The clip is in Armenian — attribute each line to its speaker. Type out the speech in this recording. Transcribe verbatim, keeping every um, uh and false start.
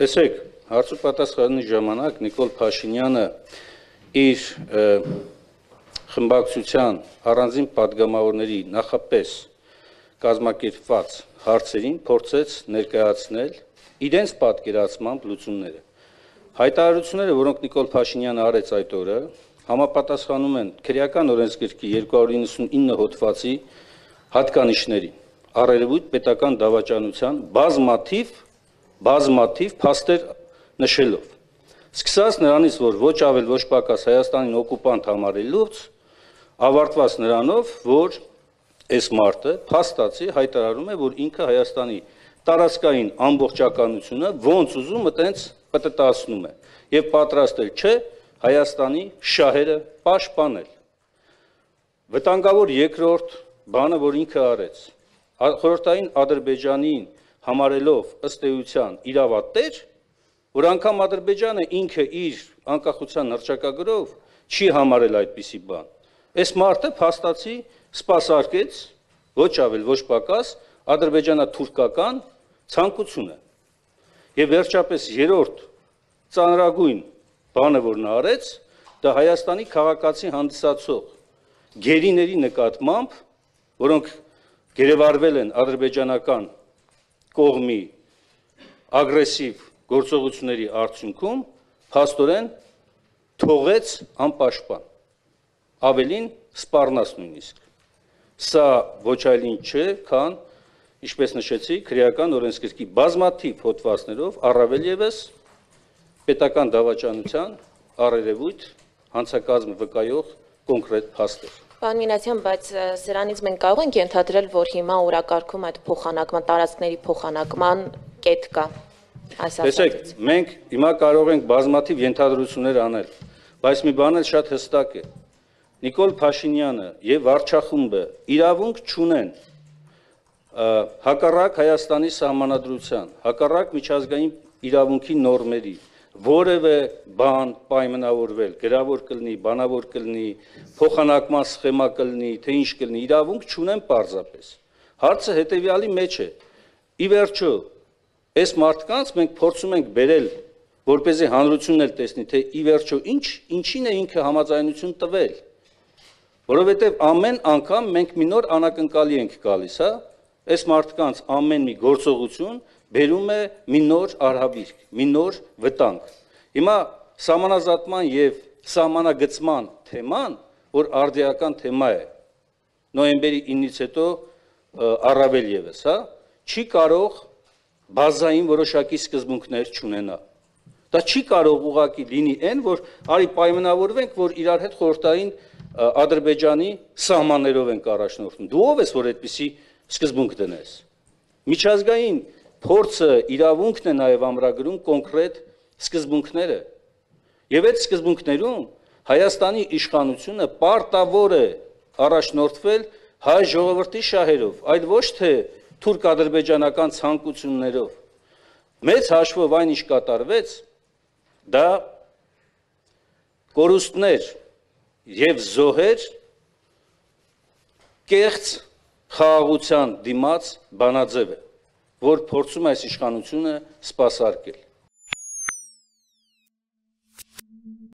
Speaker 1: Տեսեք, հարց ու պատասխանի ժամանակ Նիկոլ Փաշինյանը իր խմբակցության առանձին պատգամավորների նախապես կազմակերպված հարցերին փորձեց ներկայացնել իրենց պատկերացմամբ լուծումները։ Հայտարարությունները, որոնք Նիկոլ Փաշինյանը արեց այդ օրը, համապատասխանում են քրեական օրենսգրքի երկու հարյուր իննսունինը հոդվածի հատկանիշներին, առերևույթ պետական դավաճանության բազմաթիվ բազմաթիվ փաստեր նշելով։ Սկսած նրանից, որ ոչ ավել ոչ պակաս Հայաստանին օկուպանտ համարելուց, ավարտված նրանով, որ այս մարդը փաստացի հայտարարում է, որ ինքը Հայաստանի տարածքային ամբողջականությունը ոնց ուզում այտենց պտտացնում է եւ պատրաստել չէ Հայաստանի շահերը պաշտպանել։ Վտանգավոր երկրորդ բանը, որ ինքը արեց, խորհրդային Ադրբեջանին համարելով ըստ էության իրավատեր, որ անգամ Ադրբեջանը ինքը իր անկախության հռչակագրով չի համարել այդպիսի բան։ Այս մարդը փաստացի սպասարկեց ոչ ավել ոչ պակաս ադրբեջանա-թուրքական ցանկությունը։ Եվ վերջապես երրորդ ծանրագույն բանը, որ նա արեց, դա Հայաստանի քաղաքացի հանդիսացող գերիների նկատմամբ, որոնք գերեվարվել են ադրբեջանական կողմի ագրեսիվ գործողությունների արդյունքում, փաստորեն թողեց անպաշտպան, ավելին սպառնաց նույնիսկ։ Սա ոչ այլ ինչ չէ, քան, ինչպես նշեցի, քրեական օրենսգրքի բազմաթիվ հոդվածներով առավել ևս պետական դավաճանության առերևույթ հանցակազմ վկայող կոնկրետ փաստեր։
Speaker 2: Պարոն Մինասյան, բայց սրանից մենք կարող ենք ենթադրել, որ հիմա օրակարգում այդ փոխանակման, տարածքների փոխանակման կետ կա։
Speaker 1: Տեսեք, մենք հիմա կարող ենք բազմաթիվ ենթադրություններ անել, բայց մի բան էլ շատ հստակ է։ Նիկոլ Փաշինյանը եւ վարչախումբը իրավունք չունեն հակառակ Հայաստանի սահմանադրության, հակառակ միջազգային իրավունքի նորմերի որևէ բան պայմանավորվել, գրավոր կլինի, բանավոր կլինի, փոխանակման սխեմա կլինի, թե ինչ կլինի, իրավունք չունեն պարզապես։ Հարցը հետեւյալի մեջ է։ Ի վերջո, այս մարդկանց մենք փորձում ենք բերել, որպեսզի հանրությունն էլ տեսնի, թե ի վերջո ինչ, ինչին է ինքը համաձայնություն տվել, որովհետև ամեն անգամ մենք մի նոր անակնկալի ենք գալիս, հա, այս մարդկանց ամեն մի գործողություն բերում է մի նոր արհավիրք, մի նոր վտանգ։ Հիմա սահմանազատման եւ սահմանագծման թեման, որ արդիական թեմա է, նոյեմբերի իննից հետո առավել ևս, հա, չի կարող բազային որոշակի սկզբունքներ չունենա։ Դա չի կարող ուղղակի լինի այն, որ արի պայմանավորվենք, որ իրար հետ խորհրդային Ադրբեջանի սահմաններով ենք առաջնորդում։ Դու ով ես, որ այդպիսի սկզբունք դնես։ Միջազգային փորձը իրավունքն է նաև ամրագրում կոնկրետ սկզբունքները։ Եվ այդ սկզբունքներում Հայաստանի իշխանությունը պարտավոր է առաջնորդվել հայ ժողովրդի շահերով, այլ ոչ թե թուրք-ադրբեջանական ցանկություններով։ Մեծ հաշվով այն ինչ կատարվեց, դա կորուստներ եւ զոհեր կեղծ խաղաղության դիմաց բանաձև է, որ փորձում է այս իշխանությունը սպասարկել։